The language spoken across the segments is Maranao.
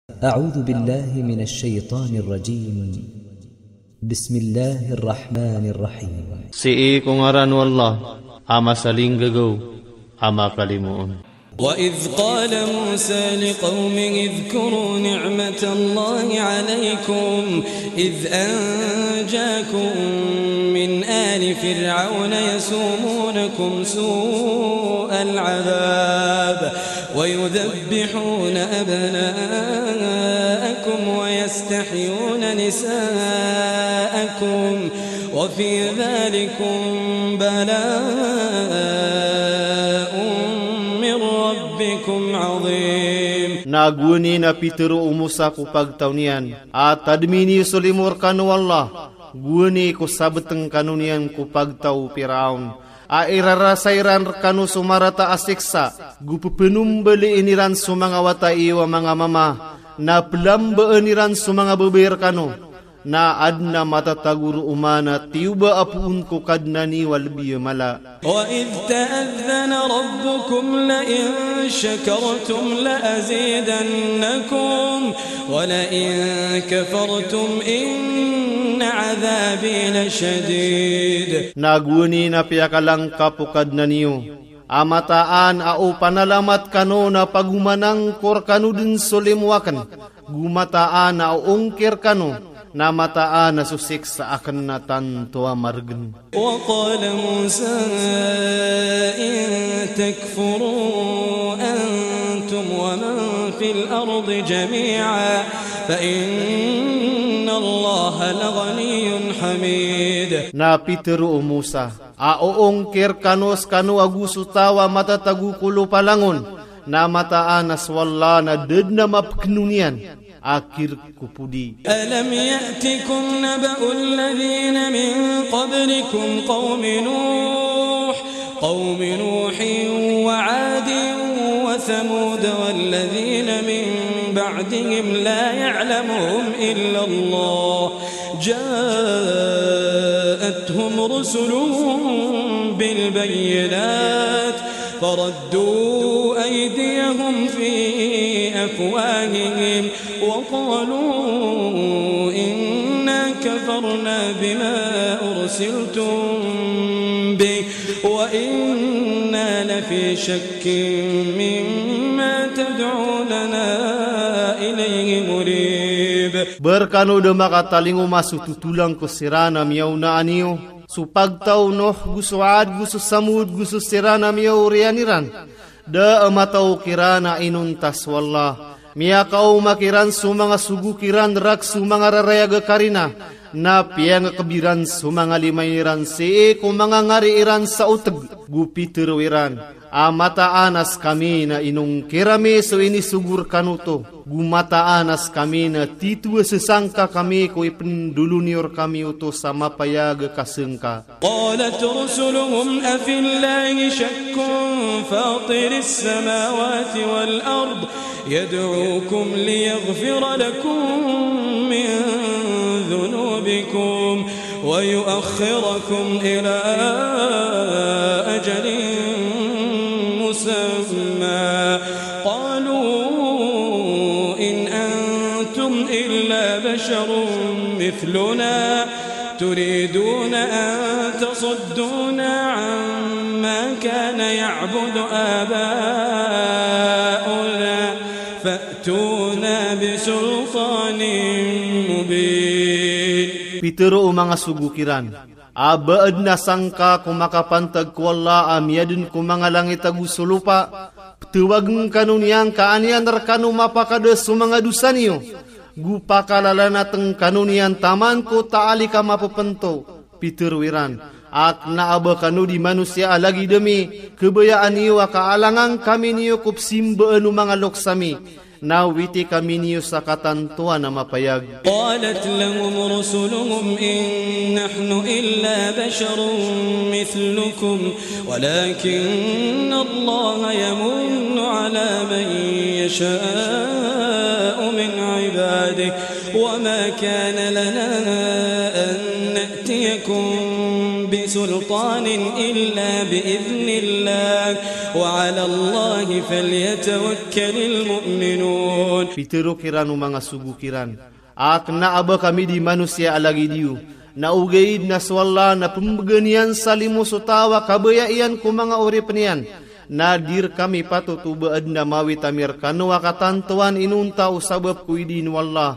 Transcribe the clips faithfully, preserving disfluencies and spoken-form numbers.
أعوذ بالله من الشيطان الرجيم. بسم الله الرحمن الرحيم. Sii ko ngaran o Allah a masalinggagaw a makalimoon. وإذ قال موسى لقومه اذكروا نعمة الله عليكم إذ أنجاكم من آل فرعون يسومونكم سوء العذاب ويذبحون أبناءكم ويستحيون نساءكم وفي ذلكم بلاء من ربكم عظيم. Na gowani na pitharo o Musa ko pagtaw niyan a tadmi niyo so limo rkano o Allah, gowani ko sabtng kano niyan ko pagtaw o Firaon a irarasay ran rkano so marata a siksa, go pphnombalin iran so manga wata iyo a manga mama, na plambaan iran so manga babay rkano, na adn a matatago roo man a tiyoba a poon ko Kadnan iyo a lbi a mala. وإذ تأذن ربكم لئن شكرتم لأزيدنكم ولئن كفرتم إن عذابي لشديد. Na gowani na piyakalangkap o Kadnan iyo a mataan a o panalamat kano na pagomanangkor kano dn so limo akn, go mataan a o ongkir kano, na mataan a so siksa akn na tanto a margn. وقال موسى إن تكفروا أنتم ومن في الأرض جميعا فإن الله لغني حميد. Na pitharo o Musa a o ongkir kano skano ago so taw a matatago ko lopa langon, na mataan a so Allah na da dn a mapkn on iyan a kirk ko podi. ألم يأتكم نبأ الذين من قبلكم قوم نوح، قوم نوح وعاد وثمود والذين من بعدهم لا يعلمهم إلا الله جاءتهم رسلهم بالبينات فردوا أيديهم في أفواههم وقالوا إنا كفرنا بما أرسلتم به وإنا لفي شك مما تدعوننا إليه مريب. Ba rkano da makatalingoma so totolang ko siran a miyaonaan iyo, so pagtaw o Nuh, go so Ad, go so Samud, go so siran a miyaoriyan iran. Da a mataw kiran a inonta so Allah. Miyakaoma kiran so manga sogo kiran rak so manga rarayag a karina, na piyangakb iran so manga lima iran sii ko manga ngari iran sa otg. Go pitharo iran a mataan a skami na inongkir ami so inisogo rkano oto, go mataan a skami na tito a sasangka kami ko ipndolon iyo rkami oto sa mapayag a kasngka. قالت رسلهم أفي الله شك فاطر السماوات والأرض يدعوكم ليغفر لكم من ذنوبكم ويؤخركم إلى أجل مسمى قالوا إن أنتم إلا بشر مثلنا تريدون أن تصدونا عما كان يعبد آباؤنا فأتونا بسلطان مبين. Pitharo o manga sogo kiran a ba adn a sangka ko makapantag ko Allah a miyadn ko manga langit ago so lopa, ptawagn kano niyan ka an iyan rkano mapakada so manga dosa niyo, go pakalalanatn kano niyan taman ko taalik a mapphantho. Pitharo iran a kna a ba kano di manosiya a lagid ami, khabayaan iyo a kaalangan kami niyo ko psimbaan o manga loks ami, na witi kami niyo sa katantoan a mapayag. قالت لهم رسلهم إن نحن إلا بشر مثلكم ولكن الله يمن على من يشاء من عباده وما كان لنا أن نأتيكم سلطان إلا بإذن الله وعلى الله فليتوكل المؤمنون. Pitharo kiran o manga sogo kiran, a kna a ba kami di manosiya a lagid iyo, na ogaid na so Allah na pmbgan iyan sa limo so taw a kabaya iyan ko manga oripn iyan, na di rkami patot o ba adn a mawit ami rkano a katantowan inonta o sabap ko idin o Allah,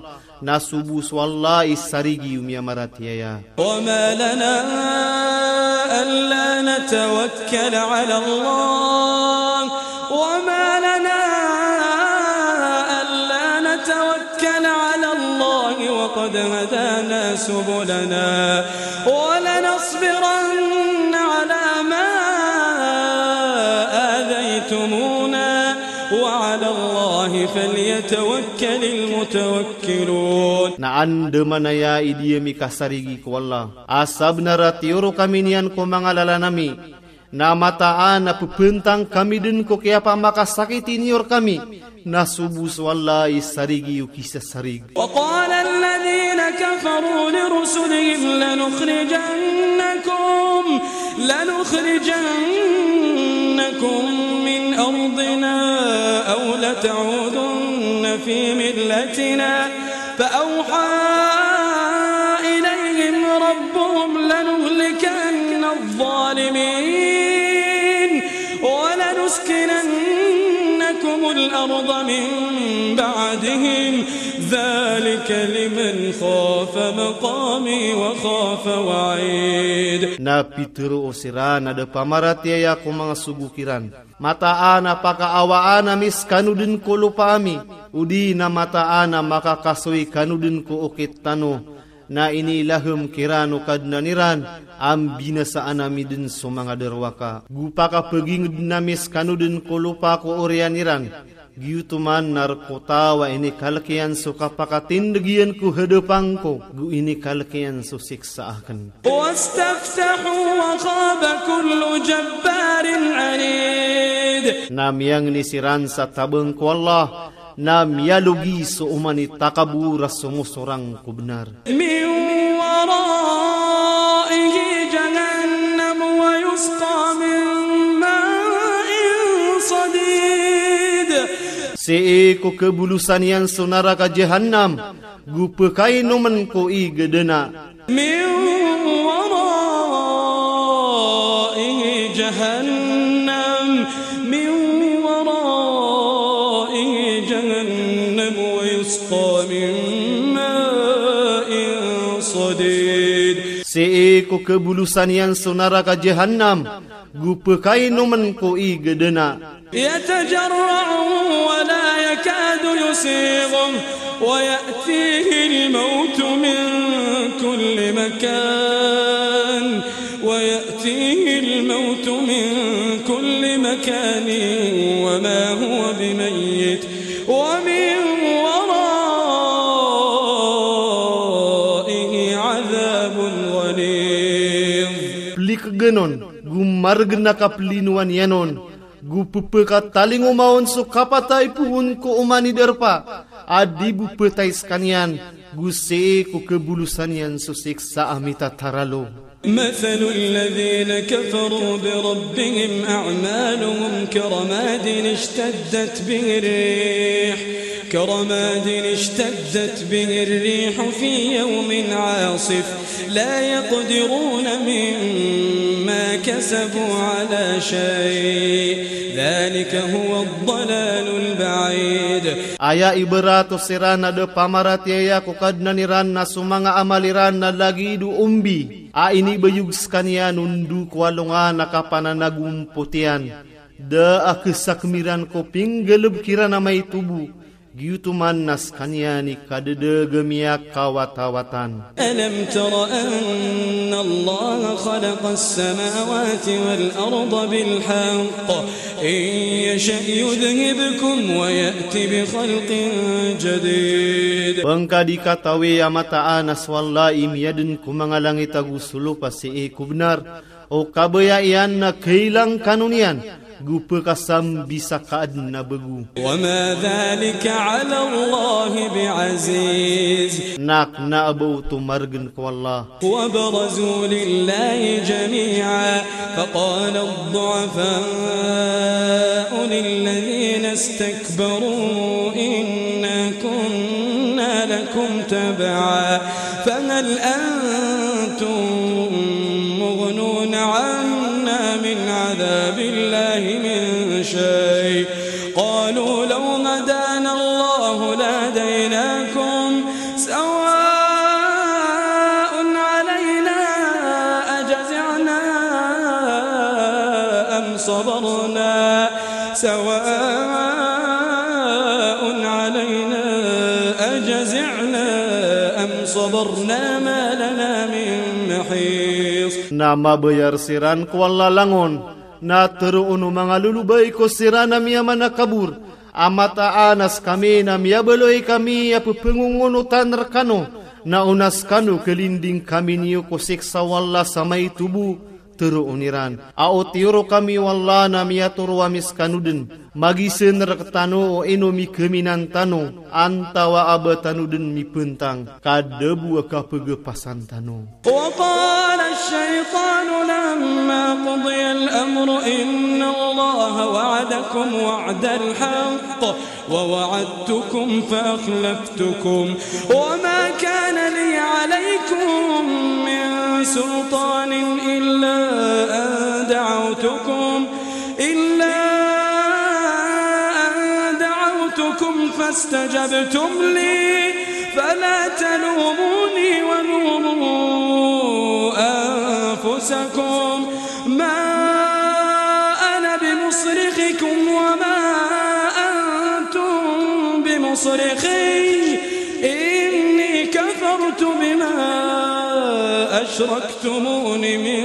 na so bo so Allah i sarigi o miyamaratiyaya. وما لنا ألا نتوكل على الله، وما لنا ألا نتوكل على الله وقد هدانا سبلنا ولنصبرن على ما آذيتمونا وعلى الله فليتوكل المتوكلون. Na andamanaya i di ami kasarigi ko Allah, a sabnar a tiyoro kami niyan ko manga lalan ami, na mataan a pphantang kami dn ko kiyapamakasakiti niyo rkami, na so bo so Allah i sarigi o kisasarig. وقال الذين كفروا لرسلهم لنخرجنكم، لنخرجنكم من أرضنا أو لتعودن في ملتنا، فأوحى إليهم ربهم لنهلكن الظالمين ولنسكننكم الأرض من بعدهم ذلك لمن خاف مقامي وخاف وعيد. Na pitharo siran a da pamaratiyaya ko manga sogo kiran, mataan a pakaawaan ami skano dn ko lopa ami, odi na mataan a makakasoy kano dn ko okit tano, na inilahm kiran o Kadnan iran a mbinasaan ami dn so manga darowaka. Go pakapagingd ami skano dn ko lopa ko oriyan iran, giyoto man na rk o taw a inikalk iyan so kapakatindg iyan ko hadapan ko, go inikalk iyan so siksa akn. واستفتحوا وخاب كل جبار عنيد. Na miyangni siran sa tabang ko Allah, na miyalogi so oman i takabor a somosorang ko bnar. من ورائه جهنم ويسقى من ماء صديد. Sii ko kabolosan iyan so naraka Jahannam, go pkainomn ko ig a dna. من ورائه جهنم، من ورائه جهنم ويسقى من ماء صديد. Sii ko kabolosan iyan so naraka Jahannam, go pkainomn ko ig a dna. يتجرعه ولا يكاد يسيغه ويأتيه الموت من كل مكان، ويأتيه الموت من كل مكان وما هو بميت ومن ورائه عذاب غليظ. Plikgn on, go margn a kaplinowan iyan on, go ppkatalingoma on so kapatay poon ko oman i darpa a di bo ptay skaniyan, go sii ko kabolosan iyan so siksa a mitataralo. مثل الذين كفروا بربهم أعمالهم كرماد اشتدت به الريح، كرماد اشتدت به الريح في يوم عاصف لا يقدرون مما كسبوا على شيء ذلك هو الضلال البعيد. Aya ibarat o siran a da pamaratiyaya ko Kadnan iran na so manga amal iran na lagid o ombi a inibayog skaniyan o ndo ko alongan a kapananagompot iyan. Da a khasakmiran ko pinggalbk iran a maito bo, giyoto man na skaniyan i kadadaga miyakawatawatan. ألم تر أن الله خلق السماوات والأرض بالحق إن يشأ يذهبكم ويأت بخلق جديد. Pangka di katawi a mataan a so Allah i miyadn ko manga langit ago so lopa sii ko bnar, o kabaya iyan na khailang kano niyan, go pkasambi sa kaadn a bgo. وما ذلك على الله بعزيز. Na kna a ba oto margn ko Allah. وبرزوا لله جميعا فقال الضعفاء للذين استكبروا إنا كنا لكم تبعا فهل أنتم مغنون عنا من عذاب الله من شيء قالوا لو هدانا الله لهديناكم سواء علينا أجزعنا أم صبرنا سواء علينا أجزعنا أم صبرنا ما لنا من محيص. Na mabayar siran ko Allah langon, na tharoon o manga lolobay ko siran a miyamanakabor, a mataan a skami na miyabaloy kami a pphangongootan rkano, na o na skano kalinding kami niyo ko siksa o Allah sa maito bo, tharoon iran a o tiyoro kami o Allah na miyatoro ami skano dn, magizan rktano o ino mikaminan tano, antawaa ba tano dn mipntang, ka da bo a kapagapasan tano. وقال الشيطان لما قضي الأمر إن الله وعدكم وعد الحق ووعدتكم فأخلفتكم وما كان لي عليكم من سلطان إلا أن دعوتكم إلا أن دعوتكم فاستجبتم لي فلا تلوموني ولوموا أنفسكم ما أنا بمصرخكم وما أنتم بمصرخي إني كفرت بما أشركتمون من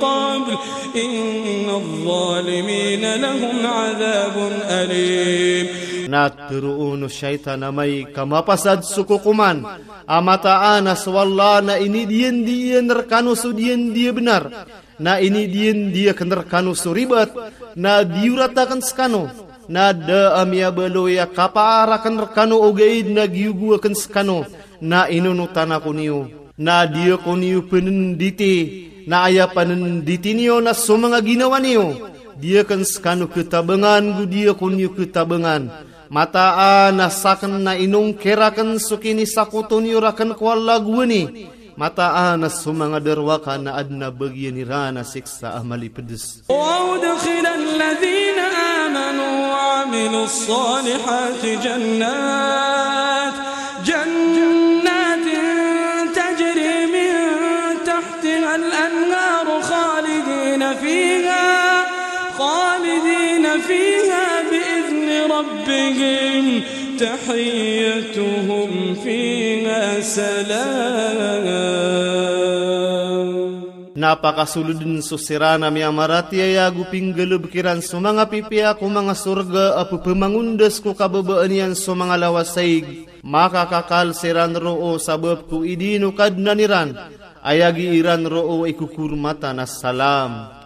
قبل إن الظالمين لهم عذاب أليم. Na tharoon o shaytan amay ka mapasad so kokoman, a mataan a so Allah na inidiyandiyan rkano so diyandiya bnar, na inidiyandiya akn rkano so ribat, na diyorat akn skano, na da a miyabaloy a kapaar akn rkano ogaid na giyogo akn skano, na inonotan ako niyo. Na di ako niyo pnnditi, na aya pnnditi niyo na so manga ginawa niyo. Di akn skano ktabangan go di ako niyo ktabangan. Mataan a sakn na inongkir akn so kinisakoto niyo rakn ko Allah gowani. Mataan a so manga darowaka na adn a bagiyan iran a siksa a malipds. وأدخل الذين آمنوا وعملوا الصالحات جنات، جنات تجري من تحتها الأنهار خالدين فيها، خالدين فيها بإذن ربهم، تحيتهم فيها سلام. Na pakasoldn so siran a miyamaratiyaya ago pinggalbk iran so manga pipiya ko manga sorga a pphamangondas ko kababaan iyan so manga lawasaig. Makakakal siran roo sabap ko idin o Kadnan iran. Aya gi iran roo i kokormatan a salam.